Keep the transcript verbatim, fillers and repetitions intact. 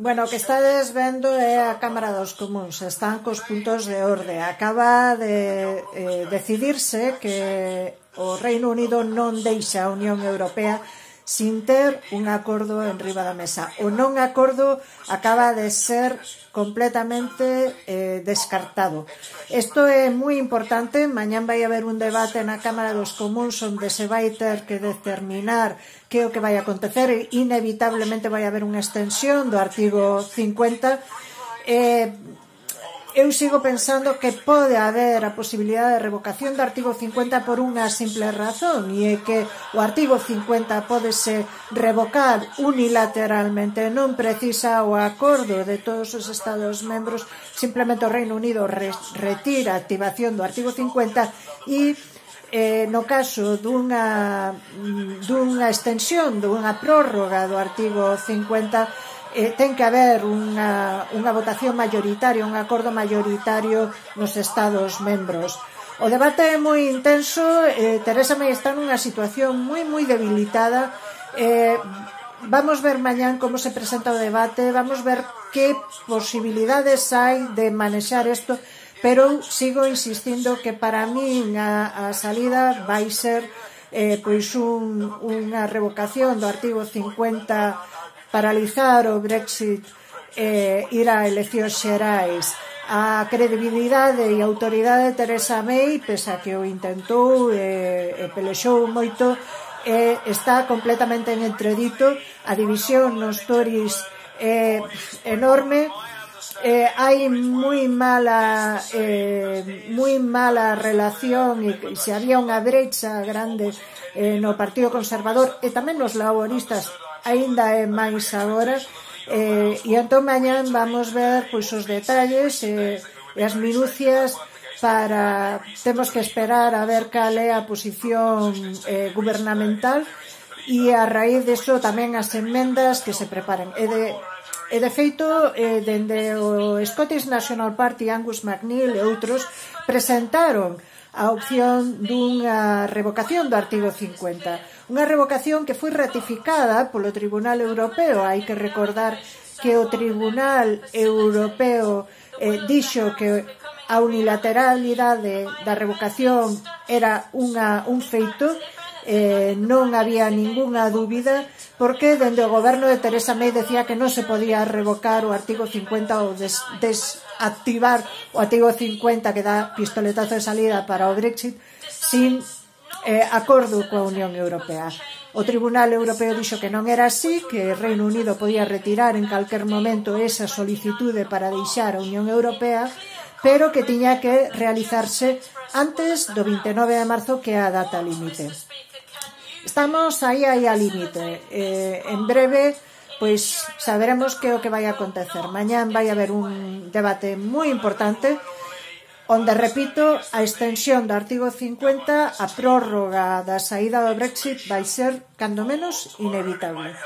Bueno, o que estades vendo é a Cámara dos Comuns, están cos puntos de orde. Acaba de eh, decidirse que o Reino Unido non deixa a Unión Europea sin ter un acordo en riba da mesa. O non acordo acaba de ser completamente eh, descartado. Isto é moi importante. Mañán vai haber un debate na Cámara dos Comuns onde se vai ter que determinar que é o que vai acontecer. Inevitablemente vai haber unha extensión do artigo cincuenta. Eh, eu sigo pensando que pode haber a posibilidade de revocación do artigo cincuenta por unha simple razón, e é que o artigo cincuenta pódese revocar unilateralmente, non precisa o acordo de todos os Estados membros, simplemente o Reino Unido retira a activación do artigo cincuenta e Eh, no caso dunha, dunha extensión, dunha prórroga do artigo cincuenta, eh, ten que haber unha, unha votación mayoritaria, un acordo mayoritario nos Estados membros. O debate é moi intenso. eh, Teresa May está nunha situación moi moi debilitada. eh, Vamos ver mañán como se presenta o debate, vamos ver que posibilidades hai de manexar isto, pero sigo insistindo que para min a, a salida vai ser eh, pois un, unha revocación do artigo cincuenta, paralizar o Brexit, eh, ir a eleccións xerais. A credibilidade e a autoridade de Teresa May, pese a que o intentou e eh, pelexou moito, eh, está completamente en entredito. A división nos Tories é eh, enorme. Eh, hai moi mala eh, moi mala relación, e se había unha brecha grande eh, no Partido Conservador e tamén nos laboristas, aínda é máis agora. eh, e entón mañán vamos ver pois os detalles eh, e as minucias para temos que esperar a ver cal é a posición eh, gubernamental, e a raíz deso tamén as enmendas que se preparen. E de E, de feito, eh, dende o Scottish National Party, Angus MacNeil e outros presentaron a opción dunha revocación do artigo cincuenta. Unha revocación que foi ratificada polo Tribunal Europeo. Hai que recordar que o Tribunal Europeo eh, dixo que a unilateralidade da revocación era unha, un feito. Eh, non había ningunha dúbida, porque dende o goberno de Teresa May decía que non se podía revocar o artigo cincuenta ou des, desactivar o artigo cincuenta que dá pistoletazo de salida para o Brexit sin eh, acordo coa Unión Europea. O Tribunal Europeo dixo que non era así, que o Reino Unido podía retirar en calquer momento esa solicitude para deixar a Unión Europea, pero que tiña que realizarse antes do vinte e nove de marzo, que é a data límite. Estamos aí aí a límite. Eh, en breve pois saberemos que é o que vai acontecer. Mañán vai haber un debate moi importante onde, repito, a extensión do artigo cincuenta, a prórroga da saída do Brexit vai ser, cando menos, inevitable.